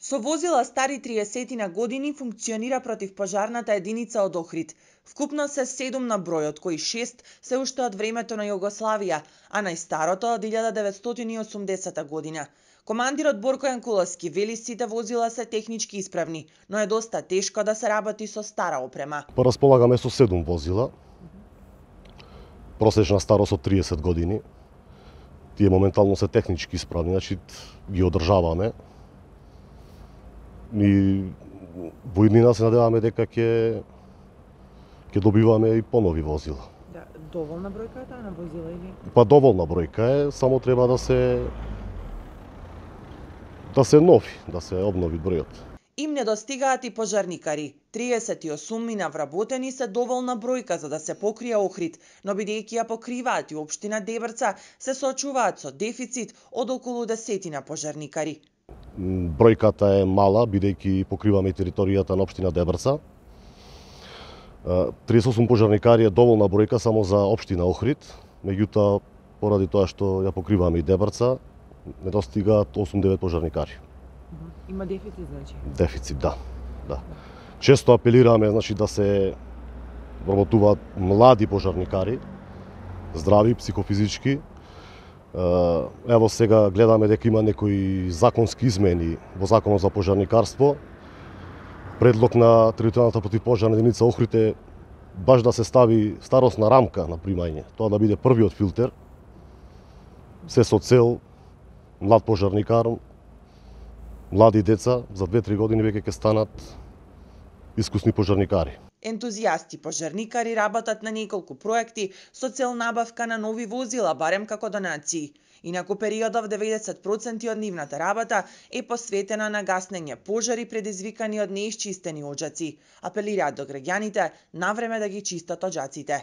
Со возила стари 30 на години функционира противпожарната единица од Охрид. Вкупно се 7 на број, од кои 6 се уште од времето на Југославија, а најстарото од 1980 година. Командирот Борко Јанкуловски вели сите возила се технички исправни, но е доста тешко да се работи со стара опрема. Располагаме со 7 возила, просечна старост од 30 години. Тие моментално се технички исправни, значи ги одржаваме. И во иднина се надеваме дека ќе добиваме и понови возила. Да, доволна бројка е таа на возила или? Па доволна бројка е, само треба да се нови, да се обнови бројот. Им недостигаат и пожарникари. 38 на вработени се доволна бројка за да се покрие Охрид, но бидејќи ја покриваат и општина Дебрца, се соочуваат со дефицит од околу 10 на пожарникари. Бројката е мала, бидејќи покриваме територијата на општина Дебрца. 38 пожарникари е доволна бројка само за општина Охрид, меѓутоа поради тоа што ја покриваме и Дебрца, недостигаат 8-9 пожарникари. Има дефицит, значи? Дефицит, да. Често апелираме, значи, да се работуваат млади пожарникари, здрави, психофизички. Ево сега гледаме дека има некои законски измени во Законот за пожарникарство. Предлог на територијалната противпожарна единица Охрид е баш да се стави старосна рамка на примање, тоа да биде првиот филтер, се со цел млад пожарникар, млади деца за 2-3 години веќе ќе станат искусни пожарникари. Ентузијасти пожарникари работат на неколку проекти со цел набавка на нови возила, барем како донации. Инаку периодов 90% од нивната работа е посветена на гаснење пожари предизвикани од неисчистени оџаци. Апелираат до граѓаните навреме да ги чистат оџаците.